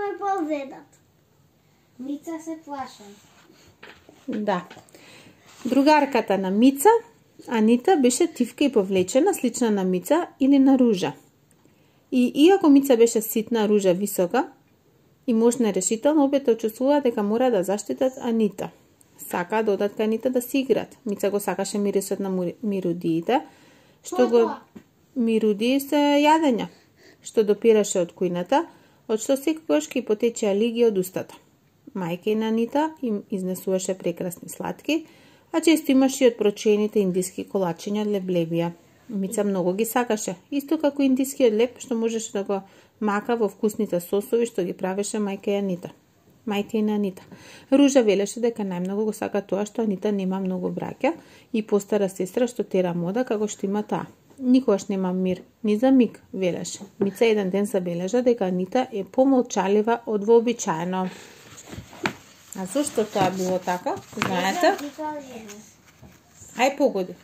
ме повредат. Мица се плашам. Да. Другарката на Мица, Анита, беше тивка и повлечена, слична на Мица или на Ружа. И иако Мица беше ситна, Ружа висока и мощна и решителна, обете чувствува дека мора да заштитат Анита. Сака да одат кај Анита да си играат. Мица го сакаше мирисот на мирудиите, што го мирудии се јадења, што допираше од кујната, од што секогаш ќе потечеа лиги од устата. Мајка и на Анита им изнесуваше прекрасни сладки, а често имаше и од прочените индиски колачиња од леблебија. Мица многу ги сакаше, исто како индискиот леб што можеше да го мака во вкусните сосови што ги правеше мајка и на Анита. Ружа велеше дека најмногу го сака тоа што Анита нема многу браќа и постара сестра што тера мода како што има таа. Никогаш нема мир, ни за миг, велеше. Мица еден ден забележа дека Анита е помолчалива од вообичаено. А зошто тоа било така? Знаете? Ај погоди.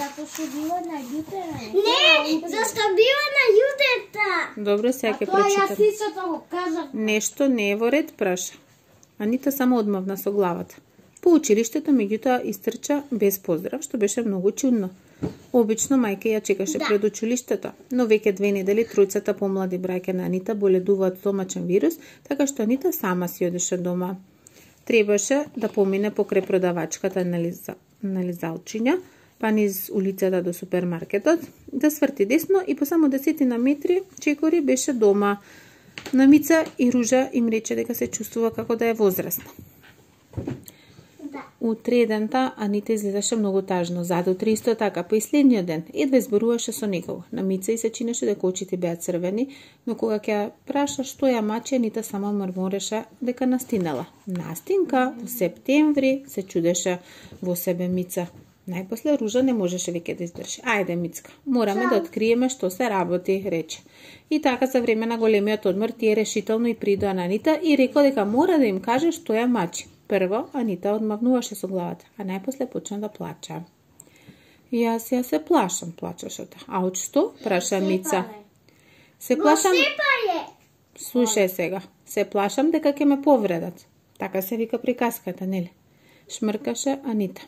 Затоа што било на јутера. Не, зашто било на јутета. Добро, сега ќе прочитам. Тоа прочитам. јас истото го кажав. Нешто не е во ред, праша. Анита само одмавна со главата. По училиштето меѓутоа истрча без поздрав, што беше многу чудно. Обично мајка ја чекаше пред училиштето, но веќе 2 недели тројцата помлади браќа на Анита боледуваат од стомачен вирус, така што Анита сама си одеше дома. Требаше да помине покрај продавачката на лизалчиња, па низ улицата до супермаркетот, да сврти десно и по само 10 метри чекори беше дома. На Мица и Ружа им рече дека се чувствува како да е возрастна. Утредента Анита изгледаше многу тажно, задутре исто така, по следниот ден едва зборуваше со некого. На Мица и се чинеше дека очите беа црвени, но кога ќе праша што ја мачи, Анита само мрмореше дека настинала. Настинка во септември, се чудеше во себе Мица. Најпосле Ружа не можеше веќе да издржи. Ајде, Мицка, мораме да откриеме што се работи, рече. И така за време на големиот одмор тие решително и придоа на Анита и рекол дека мора да им каже што ја мачи. Прво, Анита одмавнуваше со главата, а најпосле почна да плача. Јас се плашам, плачеше. А од што? Праша Мица. Се плашам. Слушај сега. Се плашам дека ќе ме повредат. Така се вика приказката, нели? Шмркаше Анита.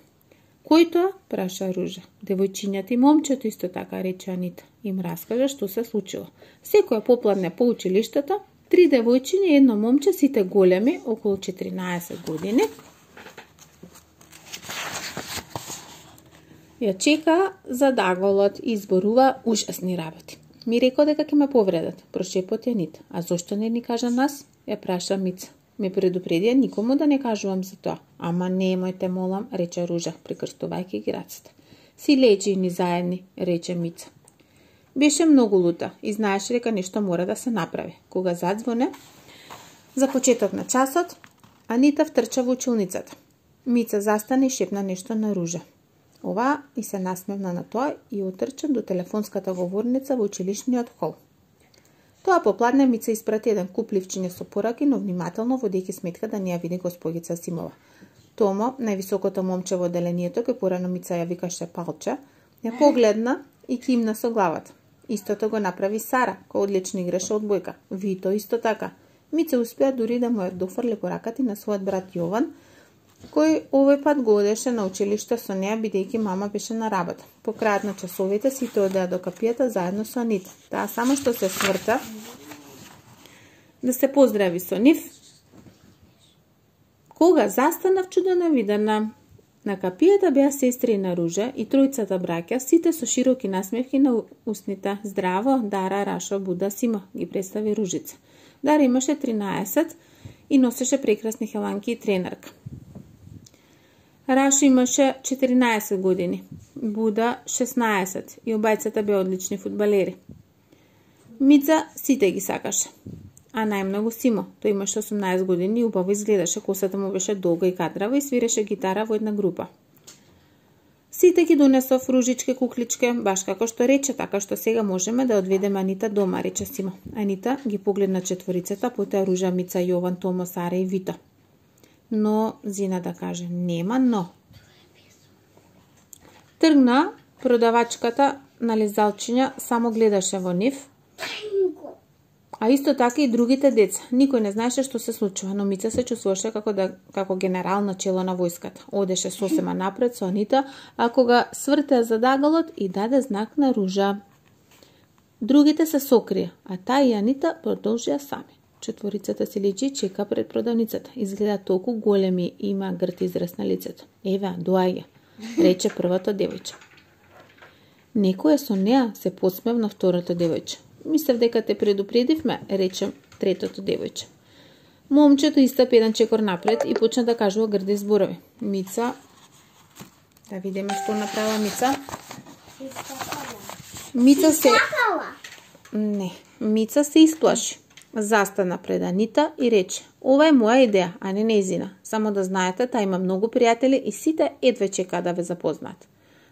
Кој тоа? Праша Ружа. Девојчињата и момчето исто така, рече Анита. Им раскажа што се случило. Секоја попладне по училиштето, 3 девојчиња и едно момче, сите големи, околу 14 години. Ја чека за даголот и изборува ужасни работи. Ми рекол дека ќе ме повредат, прошепоти Анита. А зошто не ни кажа нас? Ја праша Мица. Ме предупредија никому да не кажувам за тоа. Ама немојте, молам, рече Ружа, прикрстувајќи ги рацете. Си лечи ни заедни, рече Мица. Беше многу лута и знаеше дека нешто мора да се направи. Кога задзвоне за почеток на часот, Анита втрча во училницата. Мица застане и шепна нешто на Ружа. Ова и се насмевна на тоа и отрча до телефонската говорница во училишниот хол. Тоа попладне Мица испрати еден куп ливчиња со пораки, но внимателно водејќи сметка да не ја види госпогица Симова. Томо, највисокото момче во оделението, кој порано Мица ја викаше Палче, ја погледна и кимна со главата. Истото го направи Сара, која одлично играше одбојка. Вито исто така. Мица успеа дури да му ја дофрли пораката на својот брат Јован, кој овој пат го одеше на училиште со неа, бидејќи мама беше на работа. По крајот на часовите сите одеа до капијата заедно со Анита. Таа само што се сврта да се поздрави со нив, кога застанав чудоневидена. На капијата беа сестри на Ружа и тројцата браќа, сите со широки насмевки на устните. Здраво, Дара, Рашо, Буда, Сима, ги представи Ружица. Дара имаше 13 и носеше прекрасни хеланки и тренерка. Рашо имаше 14 години, Буда 16 и обајцата беа одлични фудбалери. Мица сите ги сакаше, а најмногу Симо. Тој имаше 18 години и убаво изгледаше, косата му беше долга и кадрава и свиреше гитара во една група. Сите ги донесов ружичке кукличке, баш како што рече, така што сега можеме да одведеме Анита дома, рече Симо. Анита ги погледна четворицата, потоа Ружа, Мица, Јован, Томо, Сара и Вито. Но, зина да каже, нема но. Тргна, продавачката на лизалчиња само гледаше во нив А исто така и другите деца. Никој не знаеше што се случува, но Мица се чувствуваше како генерал на чело на војската. Одеше сосема напред со Анита, а кога свртеа задагалот и даде знак на ружа. Другите се сокрија, а таа и Анита продолжија сами. Четворицата си личи чека пред продавницата. Изгледа толку големи и има грт израз на лицето. Еве, доаѓа, рече првото девојче. Некој е со неа, се посмевна второто девојче. Мислев дека те предупредивме, рече третото девојче. Момчето истапи еден чекор напред и почна да кажува грди зборови. Мица, да видиме што направила Мица. Мица се исплаши. Застана пред Анита и рече: "Ова е моја идеја, а не нејзина. Само да знаете, таа има многу пријатели и сите едве чека да ве запознаат."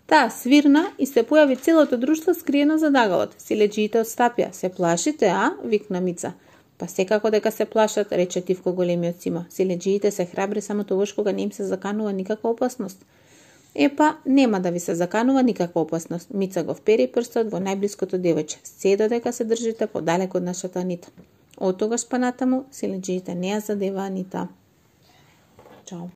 Таа свирна и се појави целото друштво скриено за дагалот. Силеџиите отстапија. "Се плашите, а?" викна Мица. "Па секако дека се плашат," рече Тивко големиот Симо. "Силеџиите се храбри само тогаш кога не им се заканува никаква опасност." "Епа, нема да ви се заканува никаква опасност." Мица го впери прстот во најблиското девојче. "Се додека се држите подалек од нашата Анита." Од тогаш па натаму силеџиите не ја задеваа Анита. Чао.